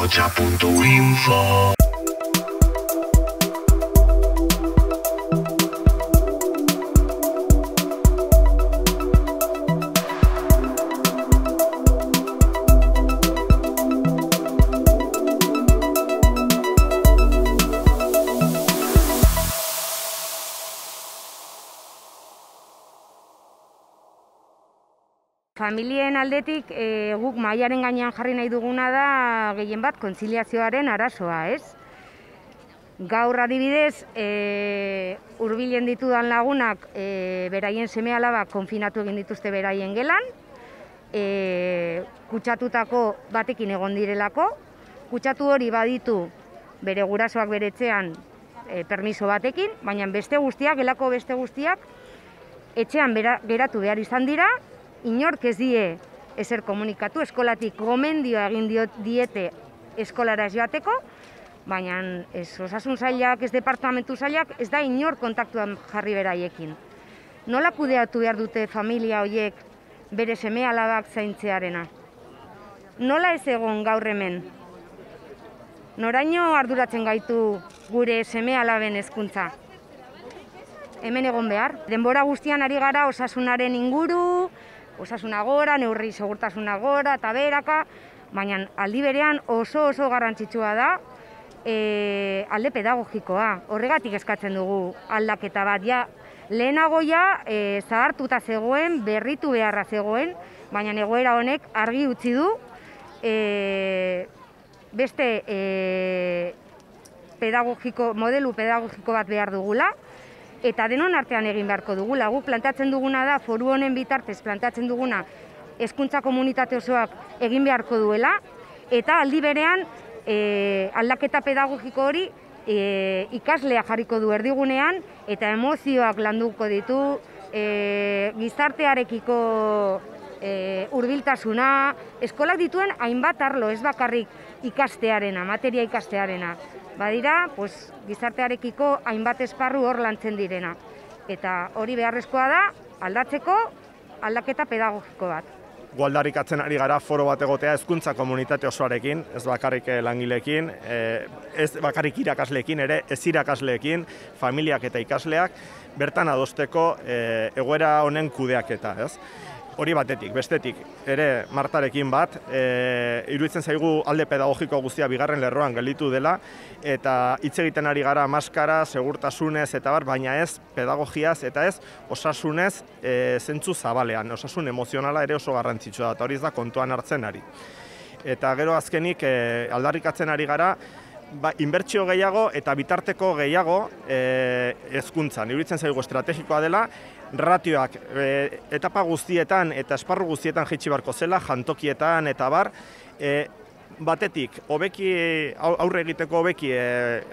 ahotsa.info. Familien aldetik guk mahaiaren gainean jarri nahi duguna da gehien bat kontziliazioaren arazoa, ez? Gaur adibidez, hurbilen ditudan lagunak beraien seme-alabak konfinatu egin dituzte beraien gelan, kutsatutako batekin egon direlako, kutsatu hori baditu bere gurasoak bere etxean permiso batekin, baina beste guztiak, gelako beste guztiak, etxean geratu behar izan dira, inork ez die ezer komunikatu, eskolatik gomendioa egin diete eskolara ez joateko, baina ez osasun sailak, ez departamentu sailak, ez da inor kontaktuan jarri beraiekin. Nola kudeatu behar dute familia horiek bere seme-alabak zaintzearena? Nola ez egon gaur hemen? Noraino arduratzen gaitu gure seme-alaben hezkuntza? Hemen egon behar. Denbora guztian ari gara osasunaren inguru, osasuna gora, neurri segurtasuna gora eta beraka, baina aldi berean oso garrantzitsua da alde pedagogikoa. Horregatik eskatzen dugu aldaketa bat. Lehenago zahartuta zegoen, berritu beharra zegoen, baina egoera honek argi utzi du beste modelu pedagogiko bat behar dugula, eta denon artean egin beharko dugula. Guk planteatzen duguna da, foru honen bitartez planteatzen duguna, hezkuntza komunitate osoak egin beharko duela, eta aldi berean aldaketa pedagogiko hori ikaslea jarriko du erdigunean, eta emozioak landuko ditu, gizartearekiko hurbiltasuna, eskolak dituen hainbat arlo, ez bakarrik ikastearena, materia ikastearena. Badira, gizartearekiko hainbat esparru hor lantzen direna. Eta hori beharrezkoa da, aldatzeko aldaketa pedagogiko bat. Gu aldarrikatzen ari gara foro bat egotea hezkuntza komunitate osoarekin, ez bakarrik langileekin, ez bakarrik irakasleekin, ere ez irakasleekin, familiak eta ikasleak, bertan adosteko egoera honen kudeaketa, ez? Hori batetik, bestetik, ere Martarekin bat, iruditzen zaigu alde pedagogiko guztia bigarren lerroan gelditu dela, eta hitz egiten ari gara maskara, segurtasunez eta bar, baina ez pedagogiaz eta ez osasunez zentzu zabalean, osasun emozionala ere oso garrantzitsua da, eta hori ez da kontuan hartzen ari. Eta gero azkenik aldarrikatzen ari gara, inbertsio gehiago eta bitarteko gehiago hezkuntzan. Iruditzen zaigu estrategikoa dela, ratioak etapa guztietan eta esparru guztietan jaitsi beharko zela, jantokietan eta bar, batetik, aurre egiteko hobeki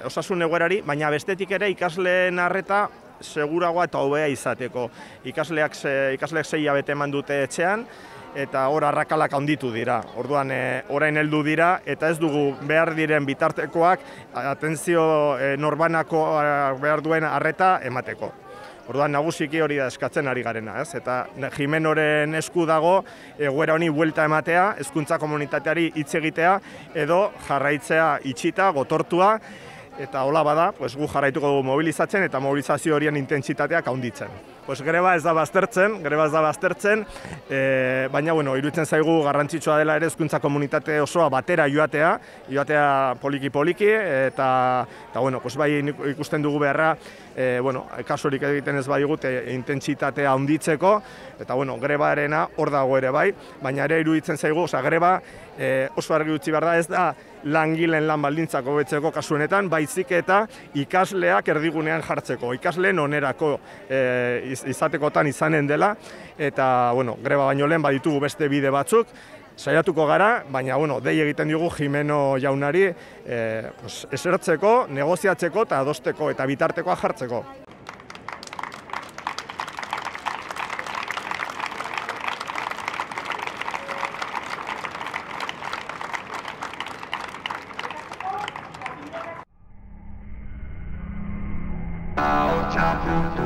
osasun egoerari, baina bestetik ere ikasleen arreta seguragoa eta hobea izateko. Ikasleak 6 hilabete eman dute etxean, eta hor arrakalak handitu dira. Orduan, orain heldu dira, eta ez dugu behar diren bitartekoak atentzio norbanako behar duen arreta emateko. Orduan, nagusiki hori da eskatzen ari garena, ez? Eta Jimenoren esku dago egoera honi buelta ematea, hezkuntza komunitateari hitz egitea, edo jarraitzea itxita, gotortua, eta hola bada, gu jarraituko dugu mobilizatzen eta mobilizazio horien intentsitateak handitzen. Greba ez da baztertzen, baina iruditzen zaigu garrantzitsua dela ere hezkuntza komunitate osoa batera joatea poliki-poliki, eta bai ikusten dugu beharra, kasurik egiten ez badigut intentsitatea handitzeko, eta grebaarena hor dago ere bai, baina ere iruditzen zaigu, greba oso argi utzi behar da, ez da langileen lan baldintzak hobetzeko kasu honetan, baizik eta ikasleak erdigunean jartzeko, ikasleen onerako izatekotan izanen dela, eta greba baino lehen baditugu beste bide batzuk, saiatuko gara, baina dei egiten diogu Jimeno jaunari esertzeko, negoziatzeko eta adosteko eta bitartekoa jartzeko. ahotsa.info